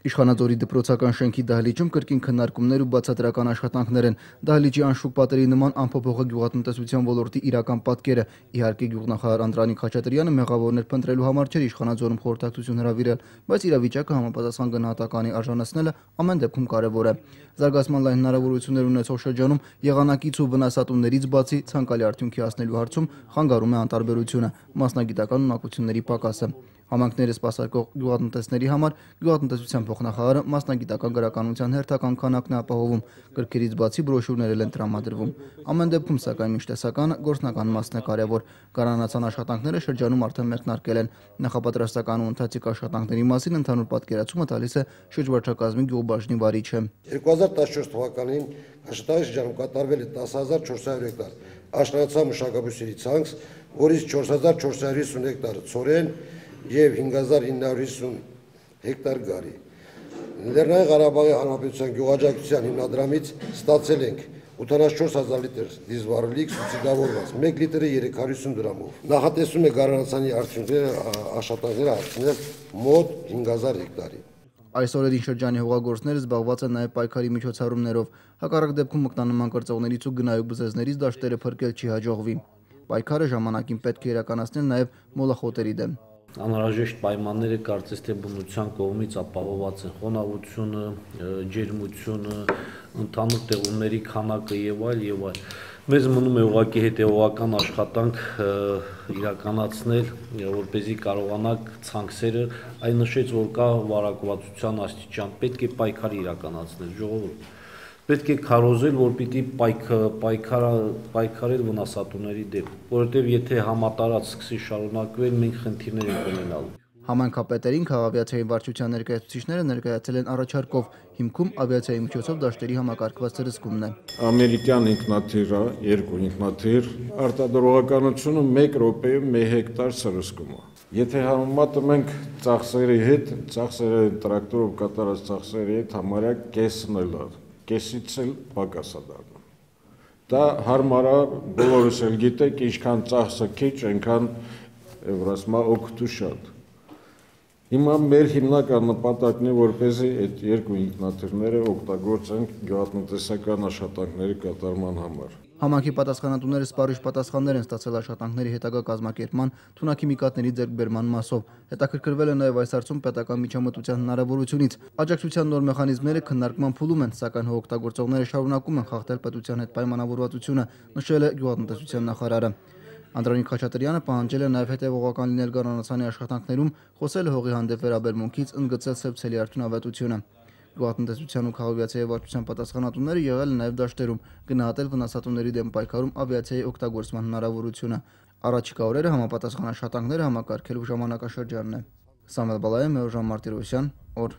Իշխանաձորի դպրոցական շենքի դահլիճում կրկին քննարկումներ ու բացատրական աշխատանքներ են։ Դահլիճի անշուք պատերի նման անփոփոխ է գյուղատնտեսության ոլորտի իրական պատկերը։ Իհարկե գյուղնախարար Անդրանիկ Խաչատրյանը մեղավորներ փնտրելու համար չէր Իշխանաձորում խորհրդակցություն հրավիրել, բայց իրավիճակը համապատասխան գնահատականի արժանացնելը ամեն դեպքում կարևոր է։ Զարգացման լայն հնարավորություններ ունեցող շրջանում եղանակից ու վնասատուներից բացի ցանկալի արդյունքի հասնելու հարցում խանգարում է անտարբերությունը, մասնագիտական ունակությունների պակասը։ Համայնքները սպասարկող գյուղատնտեսների համար գյուղատնտեսության փոխնախարարը մասնագիտական գրականության հերթական քանակն է ապահովում, գրքերից բացի բրոշյուրներ են տրամադրվում։ Ամեն դեպքում, սակայն, միշտ տեսականը գործնական մասն է կարևոր։ Կառանացան աշխատանքները շրջանում արդեն մեկնարկել են։ Նախապատրաստական ու ընթացիկ աշխատանքների մասին ընդհանուր պատկերացումը տալիս է շրջվարչակազմի գյուղբաժնի վարիչը։ 2014 թվականին աշխատանքի շրջանում կատարվել է 10,400 հեկտար աշնանացան մշակաբույսերի ցանց, որից 4,450 հեկտար ցորեն և 5,950 հեկտար գարի։ Լեռնային Ղարաբաղի Հանրապետության գյուղաճակատության հիմնադրամից ստացել ենք 84,000 լիտր դիզվառելիք սուբսիդավորված, 1 լիտրը 350 դրամով։ Նախատեսում է գարնանացանի արդյունքները աշխատանքները հասցնել մոտ 5,000 հեկտարի։ Այս օրերին շրջանի հողագործները զբաղված են նաև պայքարի միջոցառումներով։ Հակառակ դեպքում մկնանման կրծողներից ու գնայու բզեզներից դաշտերը փրկել չի հաջողվի։ Պայքարը ժամանակին պետք է իրականացնել նաև մոլախոտերի դեմ։ Անհրաժեշտ պայմանները կարծես թե բնության կողմից ապահովված են՝ խոնավությունը, ջերմությունը, ընդհանուր տեղումների քանակը եւ այլ։ Մեզ մնում է ուղղակի հետեւողական աշխատանք իրականացնել, որպեսզի կարողանանք ցանքսերը, այն նշեց, որ կա վարակվածության աստիճան, պետք է պայքար իրականացնել, ժողովուրդ։ Պետք է քարոզել, որ պիտի պայքարել վնասատուների դեմ, որովհետև եթե համատարած սկսի շարունակվել, մենք խնդիրներ ենք ունենալու։ Համայնքապետերին քաղաքավիացիայի վարչության ներկայացուցիչները ներկայացել են առաջարկով, հիմքում ավիացիայի միջոցով դաշտերի համակարգված ցրսկումն է։ Ամերիկյան ինքնաթիռը, 2 ինքնաթիռ, արտադրողականությունը 1 րոպեում 1 հեկտար ցրսկում է։ Եթե համեմատում ենք ծախսերի հետ, ծախսերը տրակտորով կատարած ծախսերի հետ համարյա կեսն էլ է, կեսից էլ պակաս է դառնում։ Դա հարմար է, բոլորս էլ գիտեք, ինչքան ծախսը քիչ, այնքան Եվրասմա օգուտը շատ։ Հիմա մեր հիմնական նպատակն է, որպեսզի այդ 2 ինքնաթիռները օգտագործենք գյուղատնտեսական աշխատանքների կատարման համար։ Համայնքի պատասխանատուները սպառիչ պատասխաններ են ստացել աշխատանքների հետագա կազմակերպման, թունաքիմիկատների ձեռքբերման մասով։ Հետաքրքրվել է նաև այս հարցում պետական միջամտության հնարավորությունից։ Աջակցության նոր մեխանիզմները քննարկման փուլում են, սակայն հողօգտագործողները շարունակում են խախտել պետության հետ պայմանավորվածությունը, նշել է գյուղատնտեսության նախարարը։ Անդրանիկ Խաչատրյանը պահանջել է նաև հետևողական լինել գառնանացանի աշխատանքներում, խոսել է հողի հանդեպ վերաբերմունքից, ընդգծել սեպցելի արդյունավետությունը։ Գյուղատնտեսության ու քաղաքավիացիայի վարչության պատասխանատուները եղել են նաև դաշտերում, գնահատել վնասատուների դեմ պայքարում ավիացիայի օգտագործման հնարավորությունը։ Առաջիկա օրերը համապատասխան աշխատանքները համակարգելու ժամանակաշրջանն է։ Սամվել Բալայան, Մեղրժան Մարտիրոսյան, օր։